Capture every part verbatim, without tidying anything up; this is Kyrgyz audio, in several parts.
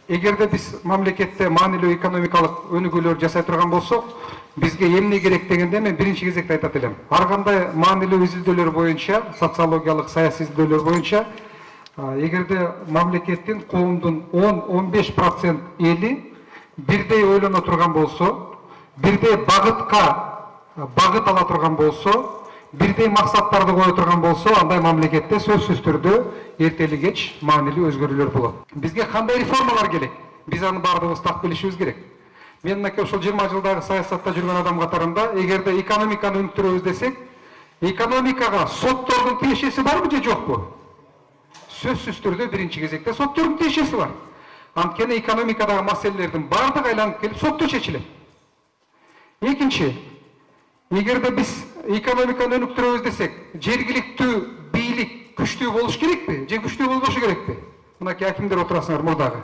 эгерде биз мамлекетте маанилүү экономикалык өнүгүүлөр жасай турган болсок, бизге эмне керек дегенде мен биринчи кезекте айтат элем. Ар кандай маанилүү изилдөөлөр боюнча, социологиялык, саясий изилдөөлөр боюнча, эгерде мамлекеттин, коомдун он он беш процент эли бирдей ойлоно турган болсо, бирдей багытка багыт ала турган болсо, бирдей максаттарды кое турган болсо, андай мамлекетте сөзсүз түрдө эртели кеч маанилүү өзгөрүүлөр болот. Бизге кандай реформалар керек? Биз аны баардыгыбыз так билишибиз керек. Мен мынакей ошол жыйырма жылдагы саясатта жүргөн адам катарында, эгерде экономиканы өнүктүрөбүз десек, экономикага соттордун тиешеси барбы же жокпу? Сөзсүз түрдө биринчи кезекте соттордун тиешеси бар. Анткени экономикадагы маселелердин баардыгы айланып келип сотто чечилет. Экинчи, эгерде биз экономиканы өнүктүрөбүз десек, жергиликтүү бийлик күчтүү болуш керекпи же күчтүү болбошу керекпи? Мынакей акимдер отурасыңар мурдагы.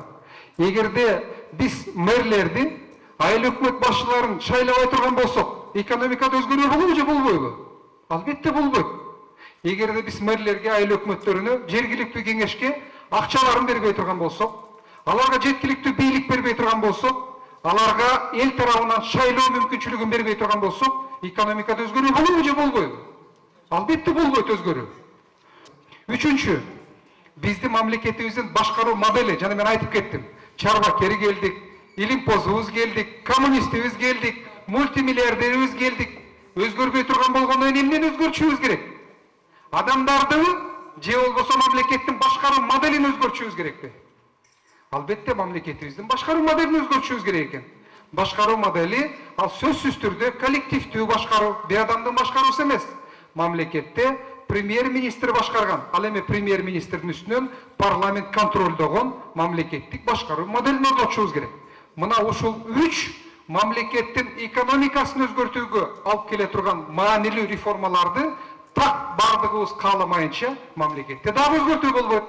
Эгерде биз мэрлерди, айыл өкмөт башчыларын шайлабай турган болсок, экономикада өзгөрүү болобу же болбойбу? Албетте болбойт. Эгерде биз мэрлерге, айыл өкмөттөрүнө, жергиликтүү кеңешке акчаларын бербей турган болсок, аларга жеткиликтүү бийлик бербей турган болсок, аларга эл тарабынан шайлоо мүмкүнчүлүгүн бербей турган болсок, экономикада өзгөрүү болобу же болбойбу? Албетте болбойт өзгөрүү. Үчүнчү, биздин мамлекетибиздин башкаруу модели, жана мен айтып кеттим. Чарбакери келдик, илимпозубуз келдик, коммунистибиз келдик, мультимиллиардерибиз келдик. Өзгөрбөй турган болгондон кийин эмнени өзгөртүшүбүз керек? Адамдарды же болбосо мамлекеттин башкаруу моделин өзгөртүшүбүз керекпи? Албетте мамлекетибиздин башкаруу моделин өзгөртүшүбүз керек экен. Башкаруу модели ал сөзсүз түрдө коллективдүү башкаруу, бир адамдын башкаруусу эмес. Мамлекетте премьер-министр башкарган, ал эми премьер-министрдин үстүнөн парламент контролдогон мамлекеттик башкаруу моделин орнотушубуз керек. Мына ушул үч мамлекеттин экономикасын өзгөртүүгө алып келе турган маанилүү реформаларды так бардыгыбыз кааламайынча мамлекетте дагы өзгөртүү болбойт.